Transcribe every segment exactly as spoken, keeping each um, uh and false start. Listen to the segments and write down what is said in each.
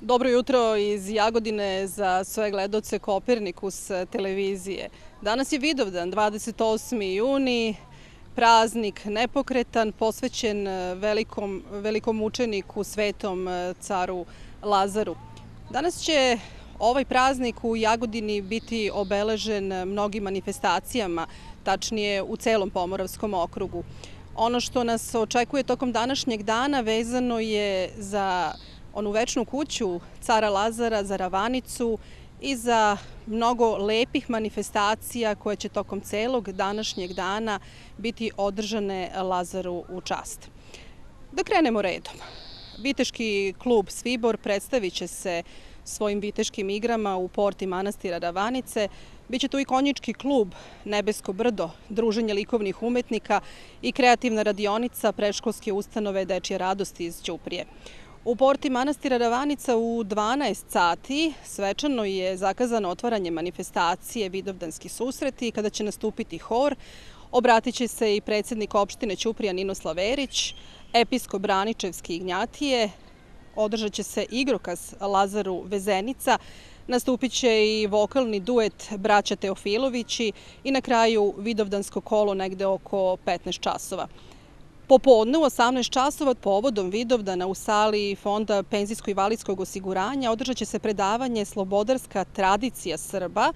Dobro jutro iz Jagodine za sve gledaoce Kopernikus televizije. Danas je Vidovdan, dvadeset osmi juni, praznik nepokretan, posvećen velikom, velikom učeniku, svetom caru Lazaru. Danas će ovaj praznik u Jagodini biti obeležen mnogim manifestacijama, tačnije u celom Pomoravskom okrugu. Ono što nas očekuje tokom današnjeg dana vezano je za onu večnu kuću cara Lazara, za Ravanicu i za mnogo lepih manifestacija koje će tokom celog današnjeg dana biti održane Lazaru u čast. Da krenemo redom. Viteški klub Svibor predstavit će se svojim viteškim igrama u porti manastira Ravanice. Biće tu i konjički klub Nebesko brdo, druženje likovnih umetnika i kreativna radionica predškolske ustanove Dečje radosti iz Ćuprije. U porti manastira Ravanica u dvanaest sati svečano je zakazano otvaranje manifestacije Vidovdanski susreti, kada će nastupiti hor. Obratit će se i predsjednik opštine Ćuprija Ninoslav Erić, episkop Braničevski Ignjatije, održat će se igrokaz Lazaru Vezenica, nastupit će i vokalni duet braća Teofilovići i na kraju Vidovdansko kolo negde oko petnaest časova. Popodne u osamnaest časova povodom Vidovdana u sali Fonda penzijsko-invalidskog osiguranja održat će se predavanje Slobodarska tradicija Srba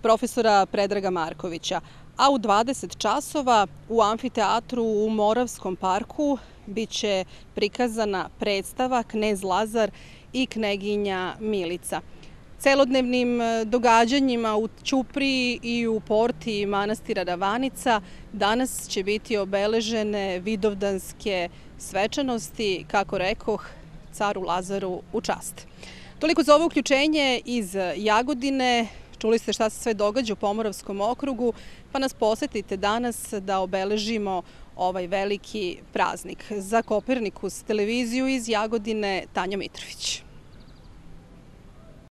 profesora Predraga Markovića, a u dvadeset časova u amfiteatru u Moravskom parku biće prikazana predstava Knez Lazar i kneginja Milica. Celodnevnim događanjima u Ćupriji i u porti manastira Ravanica danas će biti obeležene vidovdanske svečanosti, kako rekoh, caru Lazaru u čast. Toliko za ovo uključenje iz Jagodine. Čuli ste šta se sve događa u Pomoravskom okrugu, pa nas posetite danas da obeležimo ovaj veliki praznik. Za Kopernikus televiziju iz Jagodine, Tanja Mitrović.